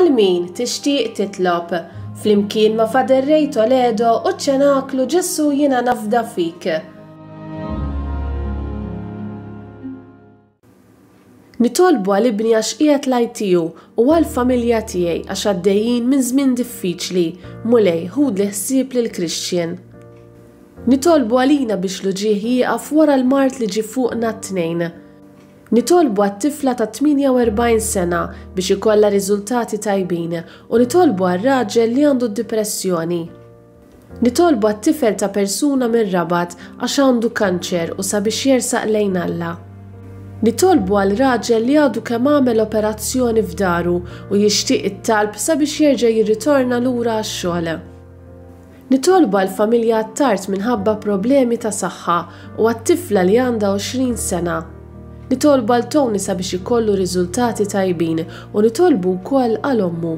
Għal min tixtieq titlob, flimkien ma' Father Ray Toledo u ċ-Ċenaklu Ġesù Jiena Nafda Fik. Nitolbu għal ibni għax qiegħed l-ITU u għall-familja tiegħi għax għaddejjin minn żmien diffiċli, Mulej ħudli ħsieb lil Christian. Nitolbu għalina biex l-uġigħ jieqaf wara l-mard li ġie fuqna t-tnejn. Nitolbu għat-tifla ta' 48 sena biex ikollha riżultati tajbin u nitolbu għar-raġel li għandu d-dipressjoni. Nitolbu għat-tifel ta' persuna mir-Rabat għax għandu kanċer u sabiex jersaq lejn Alla. Nitolbu għal raġel li għadu kemm għamel operazzjoni f'daru u jixtieq it-talb sabiex jerġa' jirritorna lura għax-xogħol. Nitolbu għall-familja Attard minħabba problemi ta' saħħa u għat-tifla li għandha 20 sena. Nitolbu għal Tony sabiex ikollu riżultati tajbin u nitolbu wkoll għal ommu.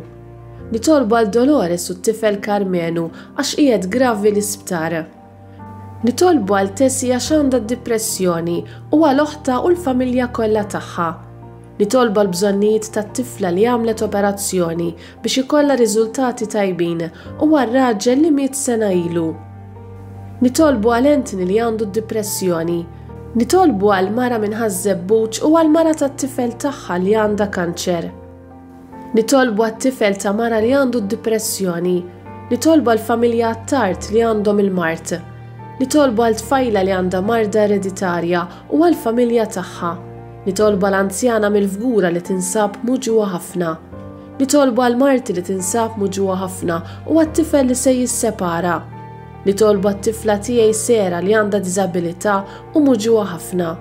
Nitolbu għal Dolores u t-tifel Karmenu għax qiegħed gravi l-isptar. Nitolbu għal Tessie għax għandha d-dipressjoni u għal oħtha u l-familja kollha tagħha. Nitolbu għall-bżonnijiet tat-tifla li għamlet operazzjoni biex ikollha riżultati tajbin u għar-raġel li miet sena ilu. Nitolbu għal Anthony li għandu d-dipressjoni. Nitolbu għal mara minn Ħaż-Żebbuġ u għall-mara tat-tifel tagħha li għandha kanċer. Nitolbu għat-tifel ta' mara li għandu d-dipressjoni. Nitolbu għall-familja Attard li għandhom il-mard. Nitolbu għal tfajla li għandha marda ereditarja u għall-familja tagħha. Nitolbu għal anzjana mill-Fgura li tinsab muġugħa ħafna. Nitolbu għal marti li tinsab muġugħa ħafna u għat-tifel li se jissepara. Nitolbu għat-tifla tiegħi Sera li għandha diżabilità u muġugħa ħafna.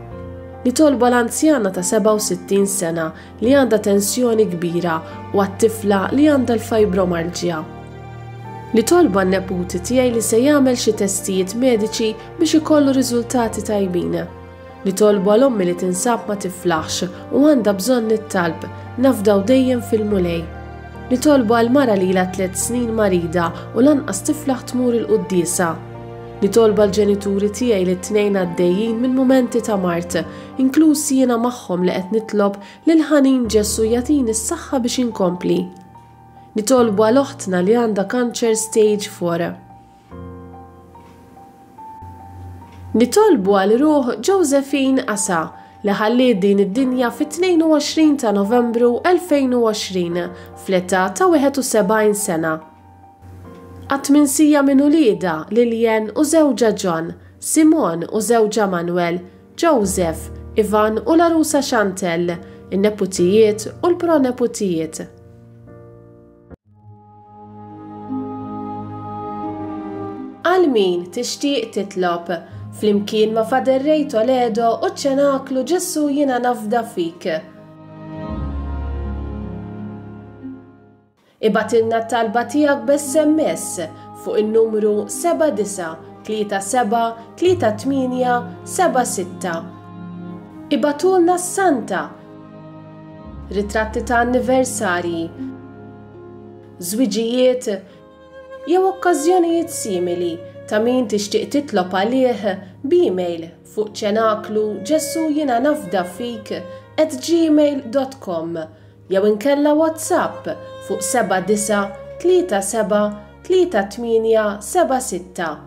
Nitolbu għal anzjana ta' 67 sena li għandha tensjoni kbira u għat-tifla li għandha l-fibromalġja. Nitolbu għan-neputi tiegħi li se jagħmel xi testijiet mediċi biex ikollu riżultati tajbin. Nitolbu għal ommi li tinsab ma tiflaħx u għandha bżonn it-talb, nafdaw dejjem fil-Mulej. Nitolbu għal mara li ilha tlett snin marida u lanqas tiflaħ tmur il-quddiesa. Nitolbu għall-ġenituri tiegħi li t-tnejn għaddejjin minn mumenti ta' mard, inkluż jiena magħhom li qed nitlob lill-ħanin Ġesù jagħtini s-saħħa biex inkompli. Nitolbu għal oħtna li għandha kanċer stage 4. Nitolbu għal ruħ Josephine Asa li ħalliet din id-dinja fit-22 ta' Novembru 2020 fl-età ta' 71 sena. Għat-tminsija minn uliedha, Lilian u żewġha John, Simone u żewġha Manuel, Joseph, Ivan u l-għarusa Chantelle, in-neputijiet u l-proneputijiet. Għal min tixtieq titlob, flimkien ma' Father Ray Toledo u ċ-Ċenaklu Ġesù Jiena Nafda Fik. Ibgħatilna t-talba tiegħek b'SMS fuq in-numru 7937 38 76. Ibagħtulna s-santa, ritratti ta' anniversarji, żwiġijiet jew okkażjonijiet simili ta' min tixtieq titlob għalih b'email fuq ċenaklu Ġesù jiena nafda fik at gmail dot com jew inkella WhatsApp fuq 7937 3876.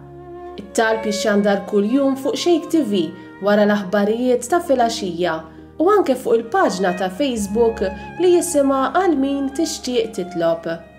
It-talb jixxandar kuljum fuq Shake TV wara l-aħbarijiet ta' filgħaxija u anke fuq il-paġna ta' Facebook li jisimha Għal Min Tixtieq Titlob.